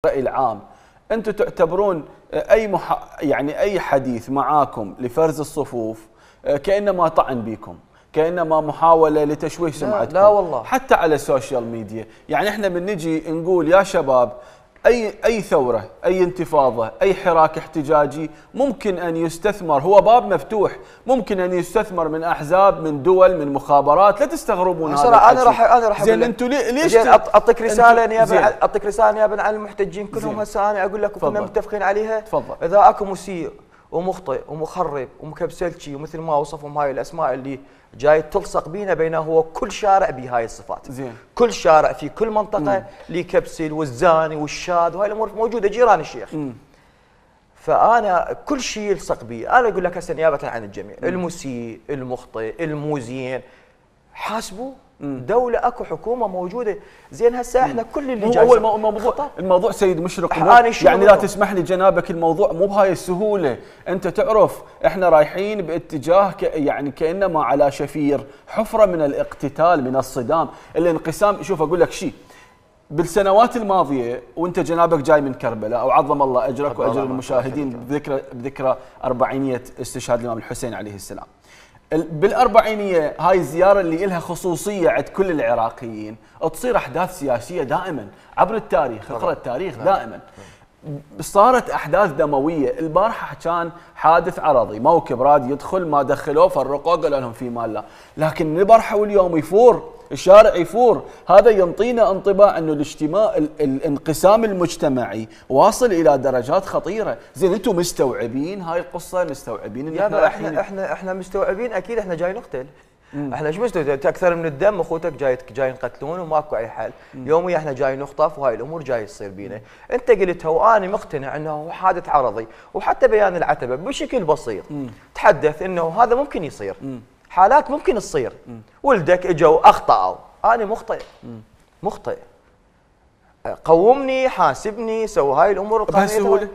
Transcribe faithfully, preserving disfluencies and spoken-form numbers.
الرأي العام، انتم تعتبرون اي مح... يعني اي حديث معاكم لفرز الصفوف كانما طعن بكم، كانما محاوله لتشويه سمعتكم. لا, لا والله، حتى على السوشيال ميديا، يعني احنا بنجي نقول يا شباب اي اي ثوره، اي انتفاضه، اي حراك احتجاجي ممكن ان يستثمر، هو باب مفتوح، ممكن ان يستثمر من احزاب، من دول، من مخابرات، لا تستغربون هذا الحكي. انا راح انا راح زين انتم ليش اعطيك رساله نيابه اعطيك رساله نيابه عن المحتجين كلهم. هسه انا اقول لك كنا متفقين عليها. تفضل. اذا اكو مسيء ومخطئ ومخرب ومكبسلشي ومثل ما وصفهم هاي الاسماء اللي جاي تلصق بينا، بينه هو كل شارع بهاي الصفات. زين. كل شارع في كل منطقه اللي يكبسل والزاني والشاذ وهاي الامور موجوده جيران الشيخ. مم. فانا كل شيء يلصق بي. انا اقول لك هسه نيابه عن الجميع، مم. المسيء، المخطئ، الموزين، حاسبوا. دولة اكو حكومة موجودة. زين هسه احنا كل اللي جاي هو الموضوع الموضوع سيد مشرق يعني لا تسمح لي جنابك، الموضوع مو بهاي السهولة. انت تعرف احنا رايحين باتجاه ك يعني كانما على شفير حفرة من الاقتتال، من الصدام، الانقسام. شوف اقول لك شيء، بالسنوات الماضية وانت جنابك جاي من كربلاء او عظم الله اجرك واجر المشاهدين بذكرى بذكرى اربعينية استشهاد الامام الحسين عليه السلام. بالأربعينية هاي الزيارة اللي إلها خصوصية عند كل العراقيين، تصير أحداث سياسية دائما عبر التاريخ، اقرأ التاريخ دائما. صارت أحداث دموية. البارحة كان حادث عرضي، موكب راد يدخل ما دخلوه فرقوه قالوا لهم في مال لا، لكن البارحة واليوم يفور الشارع، يفور. هذا ينطينا انطباع انه الاجتماع الانقسام المجتمعي واصل الى درجات خطيره. زين انتم مستوعبين هاي القصه؟ مستوعبين ان احنا احنا احنا احنا مستوعبين اكيد. احنا جاي نقتل. مم. احنا ايش مستوعبين؟ اكثر من الدم اخوتك جاي جاي نقتلون وماكو اي حل. مم. يوميا احنا جاي نخطف وهاي الامور جاي تصير بينا. انت قلتها وانا مقتنع انه حادث عرضي، وحتى بيان العتبه بشكل بسيط مم. تحدث انه هذا ممكن يصير. مم. حالات ممكن تصير. مم. ولدك اجوا اخطاوا، انا مخطئ. مم. مخطئ. قومني، حاسبني، سوي هاي الامور القانونيه.